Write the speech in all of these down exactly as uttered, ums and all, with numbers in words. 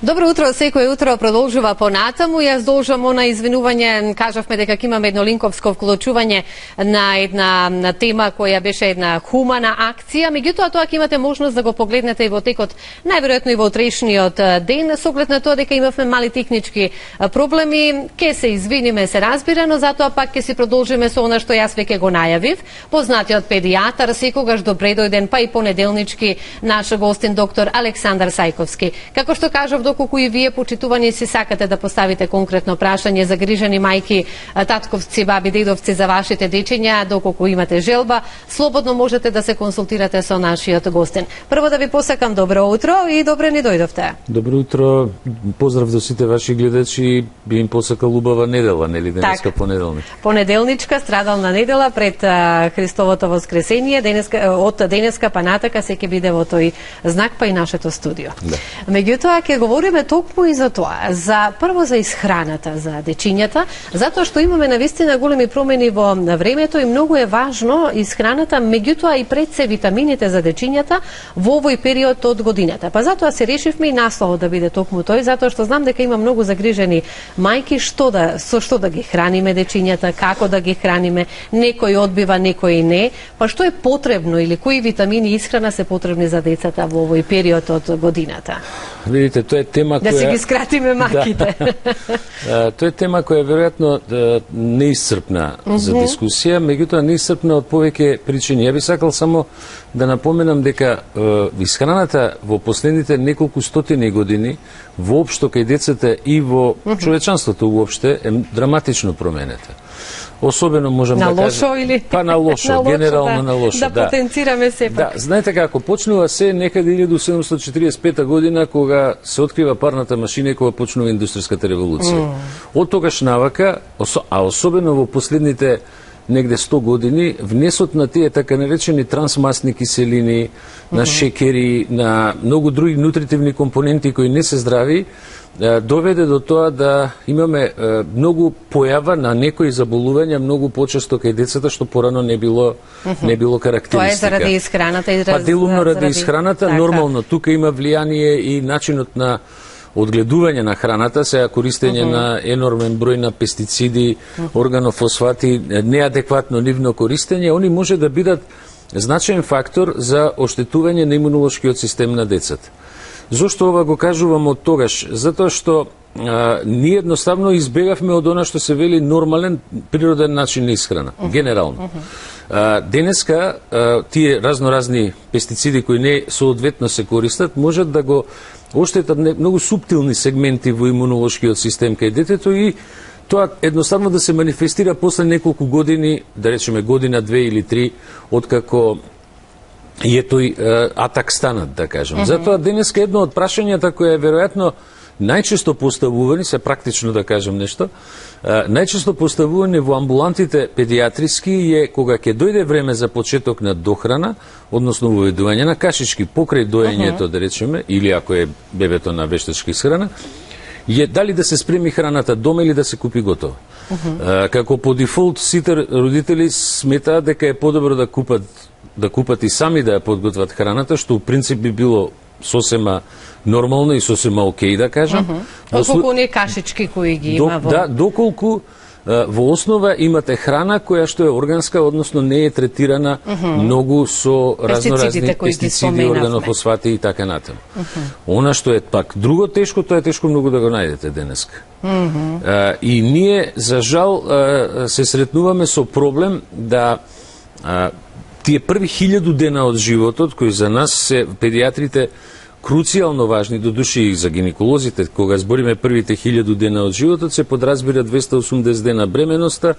Добро утро, секој утро продолжува понатаму. Јас должам она извинување, кажавме дека имаме едно линковско вклучување на една на тема која беше една хумана акција, меѓутоа тоа ќе имате можност да го погледнете и во текот, најверојатно и во утрешниот ден, со оглед на тоа дека имавме мали технички проблеми. Ке се извиниме, се разбира, но затоа пак ќе си продолжиме со она што јас веќе го најавив. Познатиот педијатар, секогаш добре дојден, па и понеделнички наш гостин доктор Александар Сајковски. Како што кажав, доколку и вие почитувани си сакате да поставите конкретно прашање за грижани мајки, татковци, баби, дедовци за вашите дечиња, доколку имате желба, слободно можете да се консултирате со нашиот гостин. Прво да ви посакам добро утро и добре ни дојдовте. Добро утро, поздрав до сите ваши гледачи, би им посакал убава недела, нели, денеска понеделник. Понеделничка, страдална недела пред а, Христовото воскресение, денеска, од денеска па натака се ќе биде во тој знак, па и нашето студио. Да. Меѓутоа ќе говориме токму и за тоа, за прво за исхраната за дечињата, затоа што имаме навистина големи промени во времето и многу е важно исхраната, меѓутоа и пред се витамините за дечињата во овој период од годината. Па затоа се решивме и насловот да биде токму тој, затоа што знам дека има многу загрижени мајки што да со што да ги храниме дечињата, како да ги храниме, некој одбива, некој не, па што е потребно или кои витамини и исхрана се потребни за децата во овој период од годината? Видите, тоа е тема да која... Да си ги скратиме маките. Да. Тоа е тема која е веројатно неисцрпна mm -hmm. за дискусија, меѓутоа неисцрпна од повеќе причини. Ја би сакал само да напоменам дека е, исхраната во последните неколку стотини години воопшто кај децата и во mm -hmm. човечанството воопште е драматично променета. Особено можам на да лошо кажам, или па на лошо, на лошо, генерално да, на лошо, да, да потенцираме сепак. Да, знаете како почнува се некаде илјада седумстотини четиридесет и пета година кога се открива парната машина и кога почнува индустријската револуција. Mm. Од тогаш навака, а особено во последните негде сто години, внесот на тие така наречени трансмасни киселини, mm -hmm. на шекери, на многу други нутритивни компоненти кои не се здрави, доведе до тоа да имаме многу појава на некои заболувања многу почесто кај децата, што порано не било mm -hmm. не било карактеристика. Тоа е заради исхраната и Па делумно ради исхраната, така. Нормално тука има влијание и начинот на одгледување на храната, сега користење uh -huh. на енормен број на пестициди, uh -huh. органофосфати, неадекватно нивно користење, они може да бидат значаен фактор за оштетување на имунолошкиот систем на децата. Зошто ова го кажувам од тогаш? Затоа што а, ние едноставно избегавме од она што се вели нормален природен начин на исхрана, uh -huh. генерално. Uh -huh. а, денеска а, тие разноразни пестициди кои не соодветно се користат, можат да го оштетат многу суптилни сегменти во имунолошкиот систем кај детето и тоа едноставно да се манифестира после неколку години, да речеме година, две или три, откако и е тој е, атак станат, да кажем. Mm -hmm. Затоа денеска едно од прашањата која е веројатно најчесто поставувани, се практично да кажем нешто, е, најчесто поставувани во амбулантите педијатриски е кога ќе дојде време за почеток на дохрана, односно воведување на кашички покрај доењето, mm -hmm. да речеме, или ако е бебето на вештачка исхрана, е дали да се спреми храната дома или да се купи готова. Uh -huh. Како по дефолт сите родители сметаат дека е подобро да купат да купат и сами да ја подготват храната, што у принцип би било сосема нормално и сосема окей, да кажам. Uh -huh. Доколку не кашички кои ги има во... Да, доколку во основа имате храна која што е органска, односно не е третирана uh -huh. многу со разноразни пестициди, органофосфати и така натаму. Uh -huh. Она што е пак друго тешко, тоа е тешко многу да го најдете денеска. Uh -huh. а, и ние, за жал, а, се сретнуваме со проблем да а, тие први хилјаду дена од животот, кои за нас се педијатрите круцијално важни, до души и за гинеколозите, кога збориме првите хилјаду дена од животот, се подразбира двеста и осумдесет дена бременоста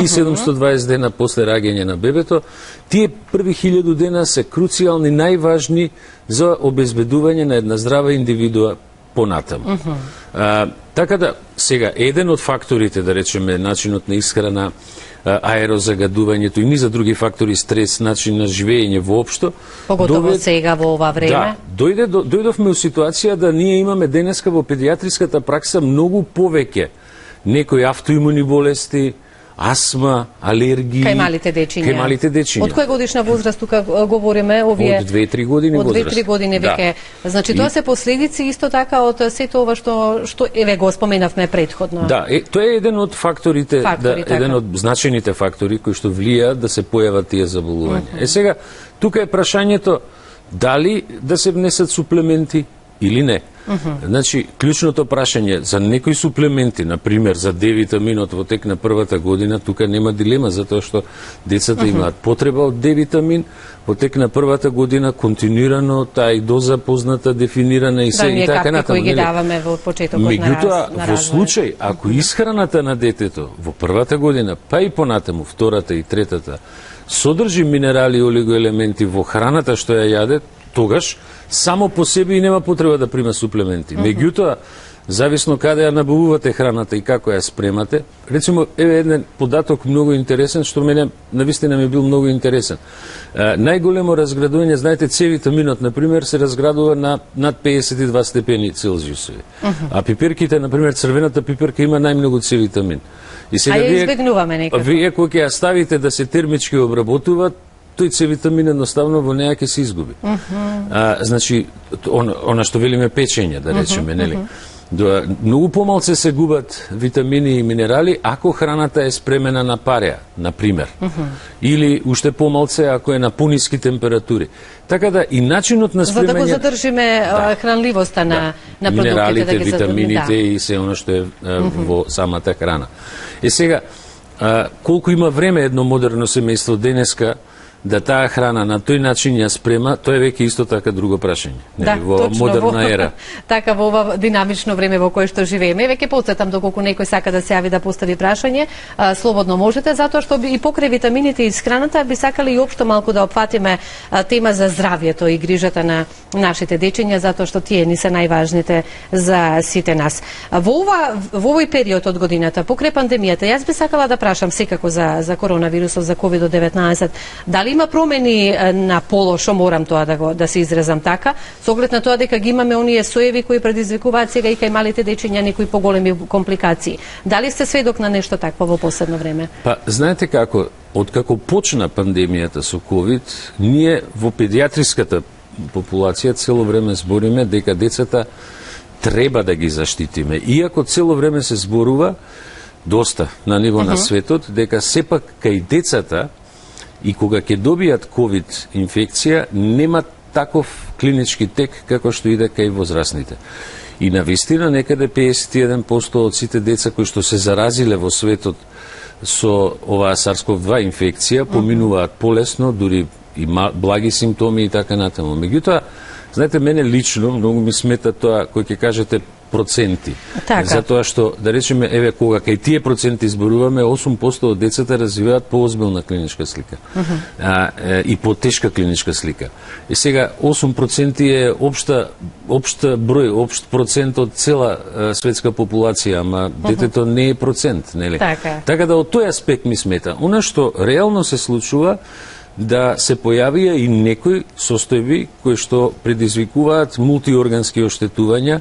и седумстотини и дваесет дена после раѓање на бебето. Тие први хилјаду дена се круцијални, најважни за обезбедување на една здрава индивидуа понатаму. Uh -huh. а, така да, сега, еден од факторите, да речеме, начинот на исхрана, аерозагадувањето и низа други фактори, стрес, начин на живење воопшто. Поготово довед... сега во ова време. Да, дојде, до, дојдовме у ситуација да ние имаме денеска во педијатриската пракса многу повеќе некои автоимуни болести, асма, алергии. Кај малите дечиња. Кај малите дечиња. Од која годишна возраст тука говориме овие? Од две-три години од возраст. Од две-три години веќе. Да. Значи тоа и... се последици исто така од сето ова што што еве го споменавме претходно. Да, е, тоа е еден од факторите, фактори, да, еден од значените фактори кои што влијаат да се појават тие заболувања. Uh -huh. Е сега тука е прашањето дали да се внесат суплементи или не. Uh -huh. Значи, клучното прашање за некои суплементи, на пример за Д витаминот во тек на првата година, тука нема дилема, затоа што децата uh -huh. имаат потреба од Д витамин, во тек на првата година континуирано таа и доза позната, дефинирана и се да, и така натаму. Да, кои ги даваме во почетокот на раз, Меѓутоа, во случај, ако исхраната на детето во првата година, па и понатаму, втората и третата, содржи минерали и олигоелементи во храната што ја јаде, тогаш само по себе и нема потреба да прима суплементи. Uh -huh. Меѓутоа, зависно каде ја набавувате храната и како ја спремате, речемо, еве еден податок многу интересен, што мене навистина ми бил многу интересен. А, најголемо разградување, знаете, С витаминот, например, се разградува на над педесет и два степени Целзиусови. Uh -huh. А пиперките, например, црвената пиперка има најмногу С витамин. И сега а ја избегнуваме некако. Вие кога ќе ја ставите да се термички обработува, тој С витамин едноставно во неја ќе се изгуби. Uh -huh. а, значи, он, она што велиме печење, да речеме, uh -huh, нели? Uh -huh. До, многу помалце се губат витамини и минерали ако храната е спремена на пареа, на пример. Uh -huh. Или уште помалце ако е на пониски температури. Така да и начинот на спремање... За да го задржиме да. хранливоста на, да. на продуктите. Минералите, да ги витамините да. и се оно што е а, uh -huh. во самата храна. Е сега, а, колку има време едно модерно семејство денеска да таа храна на тој начин ја спрема, тоа е веќе исто така друго прашање. Да, во точно, модерна во, ера. Така во ова динамично време во кое што живееме. Веќе потсетам доколку некој сака да се јави да постави прашање, а, слободно можете, затоа што и покрај витамините и храната би сакали и општо малку да опфатиме а, тема за здравјето и грижата на нашите дечиња, затоа што тие ни се најважните за сите нас. А, во ова во овој период од годината, покрај пандемијата, јас би сакала да прашам секако за за коронавирусот, за ковид деветнаесет, дали има промени на полошо, морам тоа да го да се изразам така, со оглед на тоа дека ги имаме оние соеви кои предизвикуваат сега и кај малите дечиња некои поголеми компликации. Дали сте сведок на нешто такво во последно време? Па, знаете како, откако почна пандемијата со ковид, ние во педиатриската популација цело време збориме дека децата треба да ги заштитиме. Иако цело време се зборува доста на ниво uh -huh. на светот дека сепак кај децата и кога ќе добијат ковид инфекција, нема таков клинички тек како што иде кај возрастните. И навистина некаде педесет и еден проценти од сите деца кои што се заразиле во светот со оваа SARS-CoV два инфекција поминуваат полесно, дури и благи симптоми и така натаму. Меѓутоа, знаете, мене лично многу ми смета тоа кој ќе кажете проценти. Така. Затоа што, да речеме, еве, кога кај тие проценти изборуваме, осум проценти од децата развиваат поозбилна клиничка слика. Uh -huh. а, е, и потешка клиничка слика. И сега, осум проценти е општа, општа број, општ процент од цела е, светска популација, ама uh -huh. детето не е процент, нели? Така. Така да, од тој аспект ми смета. Она што реално се случува, да се појавија и некои состојби кои што предизвикуваат мултиоргански оштетувања.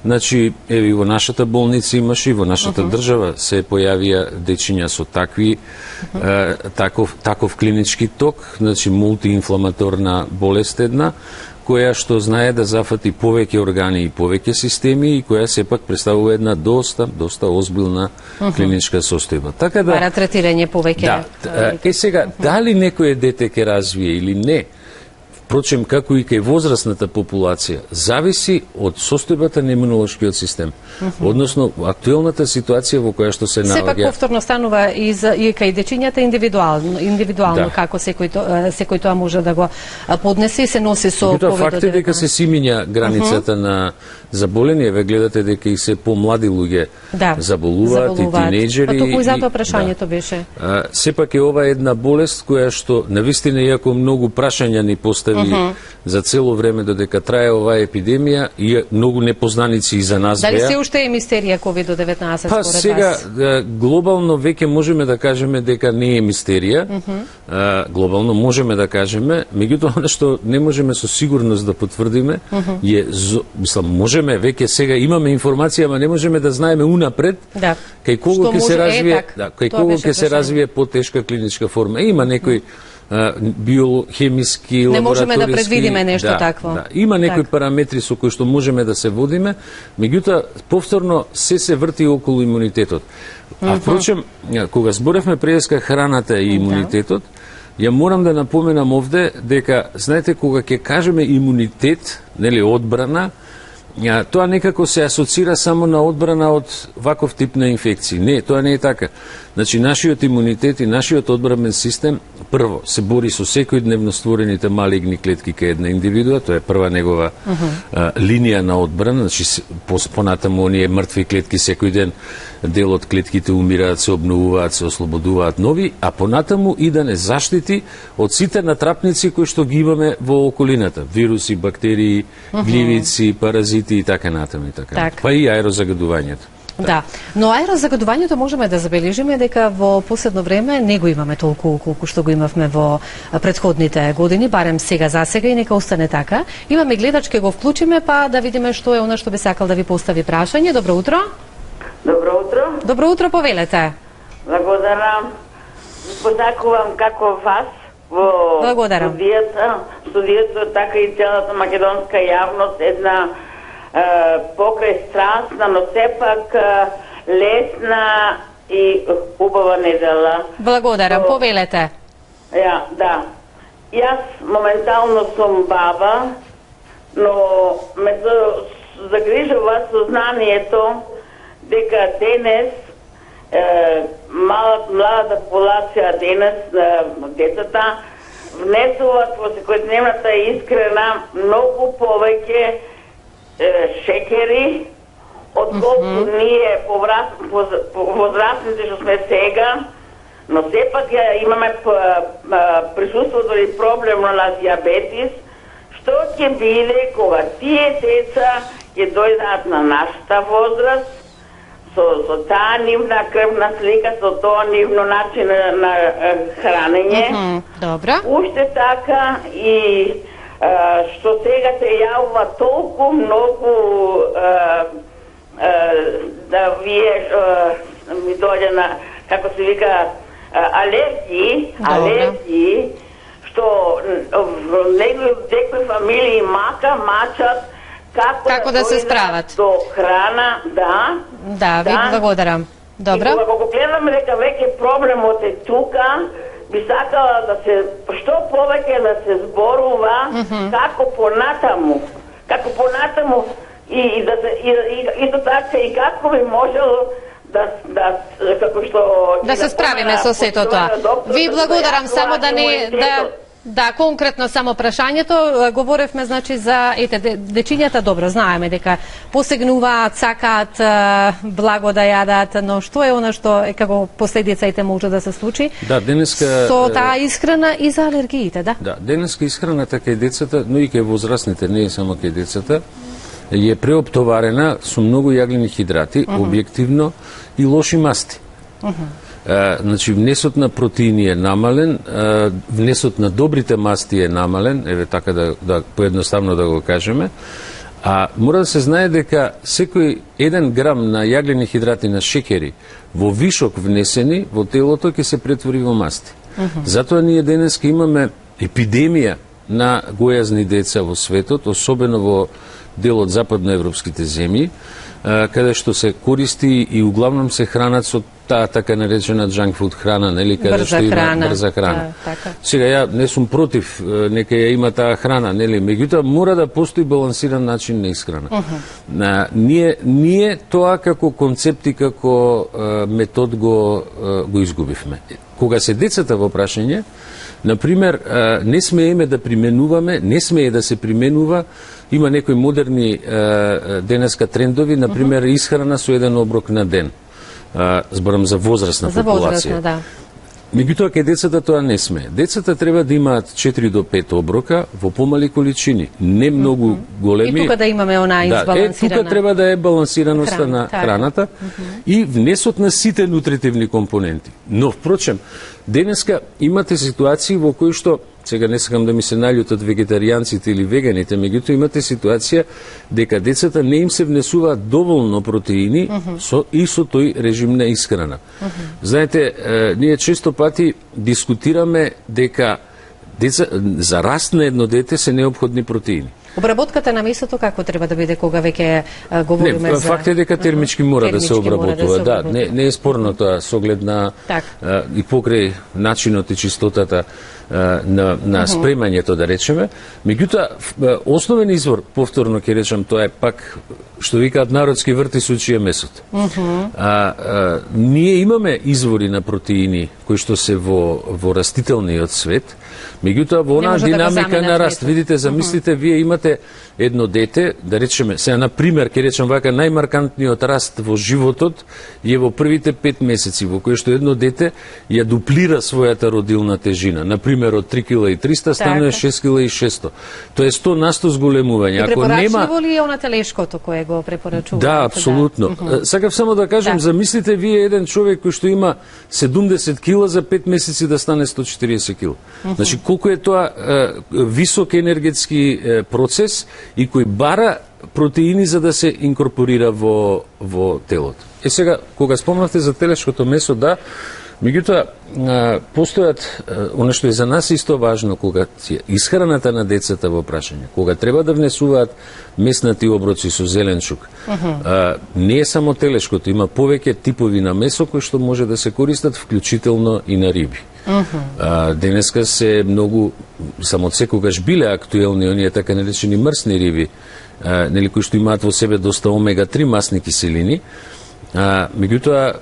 Значи, еви, во нашата болница имаше и во нашата uh -huh. држава се појавија дечиња со такви, uh -huh. е, таков, таков клинички ток, значи мултиинфламаторна болест една, која што знае да зафати повеќе органи и повеќе системи и која сепак представува една доста, доста озбилна uh -huh. клиничка состојба. Така да... Бара третирање повеќе. Да, е сега, uh -huh. дали некој дете ќе развие или не, впрочем, како и кај возрастната популација, зависи од состојбата на имунолошкиот систем. Uh -huh. Односно, актуелната ситуација во која што се наоѓа... Сепак повторно станува и, за, и кај дечињата индивидуално, индивидуално да. како секој, то, секој тоа може да го поднесе и се носи со ковид деветнаесет. Факт е дека се симиња границата uh -huh. на заболение, ве гледате дека и се помлади луѓе да, заболуваат, заболуваат и тинејџери. Па токму и затоа прашањето да. беше. А, сепак е ова една болест која што навистина, иако многу прашања ни постави остави uh -huh. за цело време додека трае оваа епидемија и многу непознаници и за нас беа. Дали се уште е мистерија ковид деветнаесет па, според сега, вас? глобално веќе можеме да кажеме дека не е мистерија. Uh -huh. а, глобално можеме да кажеме, меѓутоа она што не можеме со сигурност да потврдиме uh -huh. е, мислам, можеме веќе сега имаме информација, ама не можеме да знаеме унапред да. кај кого ќе се развие, е, да, кај кого ќе се развие потешка клиничка форма. Има некои биохемиски, лабораториски... Не можеме да предвидиме нешто да, такво. Да. Има некои так. параметри со кои што можеме да се водиме, меѓутоа, повторно, се се врти околу имунитетот. А, mm -hmm. впрочем, кога зборевме преска храната и имунитетот, ја морам да напоменам овде дека, знаете, кога ќе кажеме имунитет, нели, одбрана, Ja, тоа некако се асоцира само на одбрана од ваков тип на инфекции. Не, тоа не е така. Значи, нашиот имунитет и нашиот одбранен систем, прво, се бори со секојдневно створените малигни клетки кај една индивидуа, тоа е прва негова uh -huh. а, линија на одбрана, значи, понатаму оние мртви клетки секој ден, дел од клетките умираат, се обновуваат, се ослободуваат нови, а понатаму и да не заштити од сите натрапници кои што ги имаме во околината. Вируси, бактерии, uh -huh. гливици, паразити и така натаму и така. Так. Па и аерозагадувањето. Да, но аерозагадувањето можеме да забележиме дека во последно време не го имаме толку колку што го имавме во претходните години, барем сега за сега и нека остане така. Имаме гледач, ке го вклучиме па да видиме што е она што би сакал да ви постави прашање. Добро утро. Добро утро. Добро утро, повелете. Благодарам. Посакувам како вас во Благодарам. студијата, студијата, така и целата македонска јавност, една е, покрај страстна, но сепак е, лесна и убава недела. Благодарам, Во... повелете. Ја, да. Јас моментално сум баба, но ме загрижува сознанието дека денес е, мала, младата популација денес, е, децата, внесуваат во секојдневната искрена многу повеќе е, шекери, отколку mm -hmm. ние возрастните што сме сега, но сепак имаме присуството и проблем на диабетис, што ќе биде кога тие деца ќе дојдат на нашата возраст, со, со таа нивна крвна слика, со тоа нивно начин на, на хранење. Mm -hmm. Добра. Уште така и а, што сега се јавува толку многу а, а, да вие а, ми дојде на, како се вика, а, алергии, Добра. алергии, што некои фамилии мака мачат Како, како да, да се справат до храна, да. Да, ви да. Благодарам. Добро. И кога го гледаме дека веќе проблемот е тука, би сакала да се што повеќе да се зборува mm -hmm. како понатаму, како понатаму и, и да се и, и исто така и како би можело да да како што да се справиме со сето тоа. Ви благодарам, само да не да Да, конкретно само прашањето, говоревме значи за ете дечињата, добро знаеме дека посегнуваат, сакаат благо да јадат, но што е она што е како последиците може да се случи? Да, денеска со таа исхрана и за алергиите, да. Да, денеска исхраната кај децата, но и кај возрастните, не е само кај децата, е преоптоварена со многу јаглени хидрати, uh -huh. објективно и лоши масти. Uh -huh. Uh, значи, внесот на протеини е намален, uh, внесот на добрите масти е намален, еве така да, да поедноставно да го кажеме, а мора да се знае дека секој еден грам на јаглени хидрати на шекери во вишок внесени во телото ќе се претвори во масти. Uh -huh. Затоа ние денеска имаме епидемија на гојазни деца во светот, особено во дел од западноевропските земји, каде што се користи и углавном се хранат со таа така наречена junk food храна, нели, каде брза што има храна. брза храна. Да, така. Сега ја не сум против, нека ја има таа храна, нели, меѓутоа мора да постои балансиран начин на исхрана. Uh -huh. На, ние ние тоа како концепт и како е, метод го е, го изгубивме. Кога се децата во прашање, например, е, не смееме да применуваме, не смее да се применува. Има некои модерни е, денеска трендови, например, uh -huh. исхрана со еден оброк на ден. Зборам за возрастна за популација. Возрастна, да. Меѓутоа, кај децата тоа не сме. Децата треба да имаат четири до пет оброка во помали количини, не многу mm -hmm. големи. И тука да имаме она избалансирана. Да, е, тука треба да е балансираноста Хран, на храната mm -hmm. и внесот на сите нутритивни компоненти. Но, впрочем, денеска имате ситуации во кои што, сега не сакам да ми се наљутат вегетаријанците или веганите, меѓутоа имате ситуација дека децата не им се внесуваат доволно протеини mm -hmm. со, и со тој режим на исхрана. Mm -hmm. Знаете, е, ние често пати дискутираме дека деца, за раст на едно дете се неопходни протеини. Обработката на месото како треба да биде кога веќе говориме не, за... факт е дека термички мора термички да се обработува. Да, да, не, не е спорно тоа со оглед на а, и покрај начинот и чистотата а, на, на спремањето, да речеме. Меѓутоа, основен извор, повторно ќе речам, тоа е пак, што викаат народски врти сучие месото. Uh -huh. а, а, ние имаме извори на протеини кои што се во, во растителниот свет, меѓутоа во онаа динамика да на раст. Видите, замислите, uh -huh. вие имате едно дете, да речеме, сега на пример ќе речам вака, најмаркантниот раст во животот е во првите пет месеци, во кој што едно дете ја дуплира својата родилна тежина. На пример, од три килограми и триста станува шест килограми и шесто. Тоа е сто на сто зголемување. Ако нема ли е она телешкото кое го препорачува? Да, апсолутно. Да. Uh -huh. Сакав само да кажам, да. Замислите вие еден човек кој што има седумдесет кила за пет месеци да стане сто четириесет кила. Uh -huh. Значи колку е тоа е, висок енергетски е, процес и кој бара протеини за да се инкорпорира во, во телото. Е сега, кога спомнавте за телешкото месо, да, меѓутоа, постојат, оно што е за нас исто важно, кога исхраната на децата во прашање, кога треба да внесуваат меснати оброци со зеленчук, uh -huh. а, не е само телешкото, има повеќе типови на месо кои што може да се користат, вклучително и на риби. Uh -huh. а, денеска се многу, само секогаш биле актуелни оние така наречени мрсни риби, а, нели, кои што имаат во себе доста омега три масни киселини, а, меѓутоа,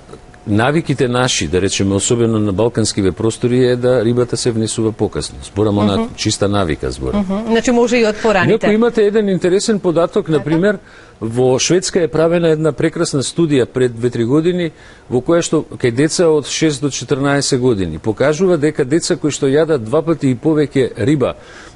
навиките наши, да речеме, особено на балканскиве простори, е да рибата се внесува покасно. Зборам uh -huh. на чиста навика зборам. Uh -huh. Значи може и од пораните. Ако имате еден интересен податок, на пример, во Шведска е правена една прекрасна студија пред две-три години, во која што кај деца од шест до четрнаесет години покажува дека деца кои што јадат два пати и повеќе риба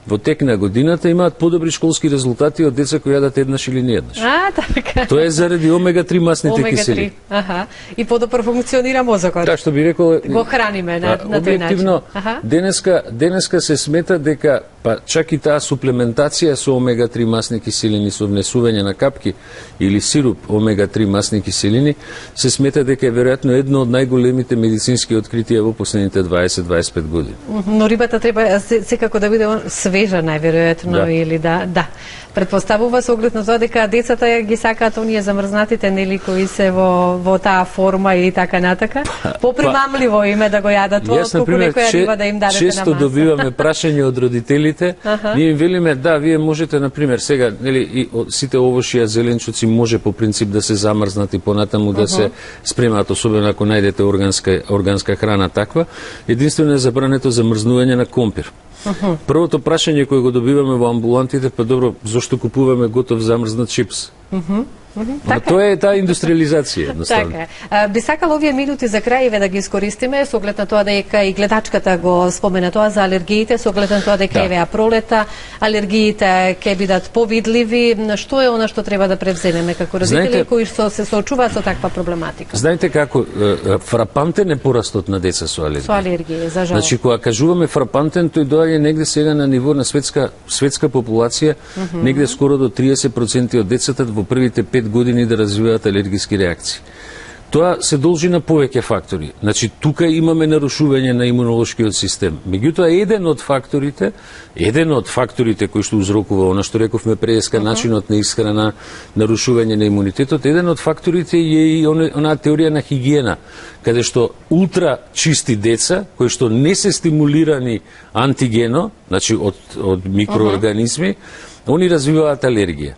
во тек на годината имаат подобри школски резултати од деца кои јадат еднаш или нееднаш. А, така. Тоа е заради омега три масните киселини. Аха. И подобро функционира мозокот. Така што би рекол, го храниме на, на тој начин. Денеска, денеска се смета дека па чак и таа суплементација со омега три масни киселини со внесување на капки или сируп омега три масни киселини се смета дека е веројатно едно од најголемите медицински откритија во последните дваесет до дваесет и пет години. Но рибата треба секако да биде свежа најверојатно, да. Или да, да. Предпоставува со оглед на тоа дека децата ги сакаат оние замрзнатите, нели, кои се во во таа форма и така натака. Попримамливо им е да го јадат тоа, колку некоја риба да им дадете на маса. Често добиваме прашање од родителите, ние им велиме да, вие можете на пример сега, нели, и сите овошји зеленчуци може по принцип да се замрзнат и понатаму да се спремаат, особено ако најдете органска органска храна таква. Единствено е забрането замрзнување на компир. Uh -huh. Првото прашање кое го добиваме во амбулантите, па добро, зошто купуваме готов замрзнат чипс? Uh -huh. Uh -huh. Така. Тоа е таа индустриализација, едноставно. Така е. Би сакала овие минути за крај да ги искористиме со оглед на тоа дека и гледачката го спомена тоа за алергиите, со оглед на тоа дека да. Еве пролета, алергиите ќе бидат повидливи. Што е она што треба да превземеме како родители знаете, кои што се соочуваат со таква проблематика? Знаете како фрапантен е порастот на деца со алергија. Со алергија, за жал. Значи кога кажуваме фрапантен, тој доаѓа негде сега на ниво на светска светска популација, uh -huh. негде скоро до триесет проценти од децата во првите пет години да развиваат алергиски реакции. Тоа се должи на повеќе фактори. Значи, тука имаме нарушување на имунолошкиот систем. Меѓутоа, еден од факторите, еден од факторите кои што узрокува, она што рековме преска, uh -huh. начинот на исхрана, нарушување на имунитетот, еден од факторите е и онаа теорија на хигиена, каде што ултра чисти деца, кои што не се стимулирани антигено, значи од, од микроорганизми, uh -huh. они развиваат алергија.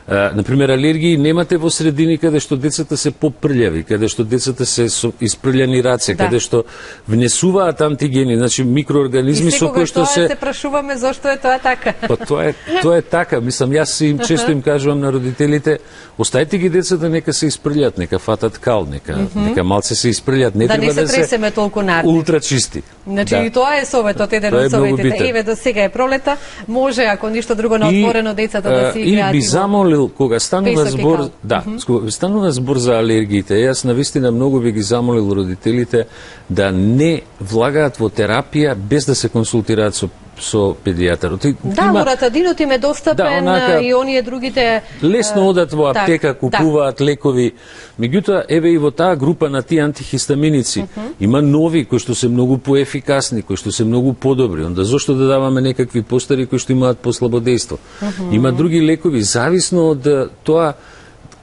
На пример, алергии немате во средини каде што децата се попрљави, каде што децата се со испрљани раце, да. Каде што внесуваат антигени, значи микроорганизми со кои што се... И секогаш тоа се прашуваме зошто е тоа така. Па тоа е, тоа е така, мислам, јас им често им кажувам на родителите, оставете ги децата нека се испрљат, нека фатат кал, нека, mm -hmm. нека малце се испрљат, не да треба не се да се тресеме толку нарни. Ултра чисти. Значи да. И тоа е советот, еден од советите. Еве до сега е пролета, може ако ништо друго на отворено децата да си играат. И би замолил кога станува збор, да, mm -hmm. кога станува збор за алергиите, јас навистина многу би ги замолил родителите да не влагаат во терапија без да се консултираат со со педијатар. Да, има... лоратадинот им е достапен, да, онака, и оние другите... Лесно одат во аптека, так, купуваат да. лекови. Меѓутоа, еве и во таа група на тие антихистаминици, uh -huh. има нови кои што се многу поефикасни, кои што се многу подобри. Онда зошто да даваме некакви постари кои што имаат послабо дејство? Uh -huh. Има други лекови, зависно од тоа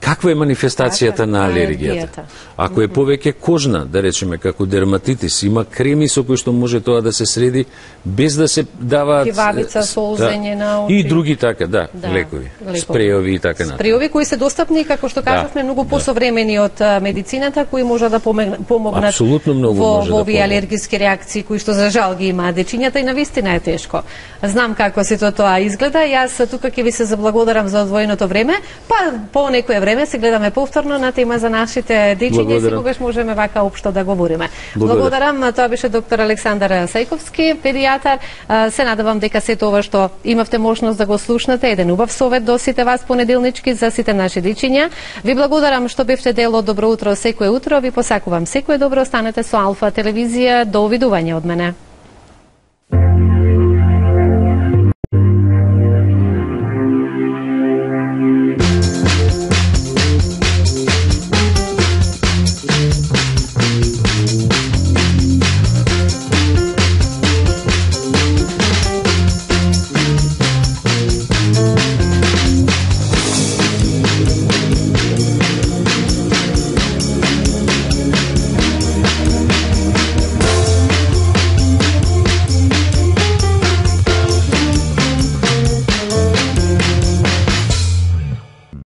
каква е манифестацијата така, на алергијата. Ако е повеќе кожна, да речеме, како дерматитис, има креми со кои што може тоа да се среди, без да се даваат... Кивавица, солзење да, на очи. И други така, да, да лекови, лекови, спреови и така натаму. Спреови кои се достапни, како што кажавме, да, многу посовремени од медицината, кои може да помогнат Апсолутно многу во, може во да овие алергиски реакции, кои што за жал ги имаат дечињата и навистина е тешко. Знам како сето тоа изгледа, јас тука ќе ви се заблагодарам за одвоеното време, па по некое време се гледаме повторно на тема за нашите дечиња, секогаш можеме вака општо да говориме. Благодарам, тоа беше доктор Александар Сајковски, педијатар. Се надевам дека сето ова што имавте можност да го слушнате, еден убав совет до сите вас понеделнички за сите наши дечиња. Ви благодарам што бевте дел од Добро утро секое утро, ви посакувам секое добро, останете со Алфа телевизија, до видување од мене.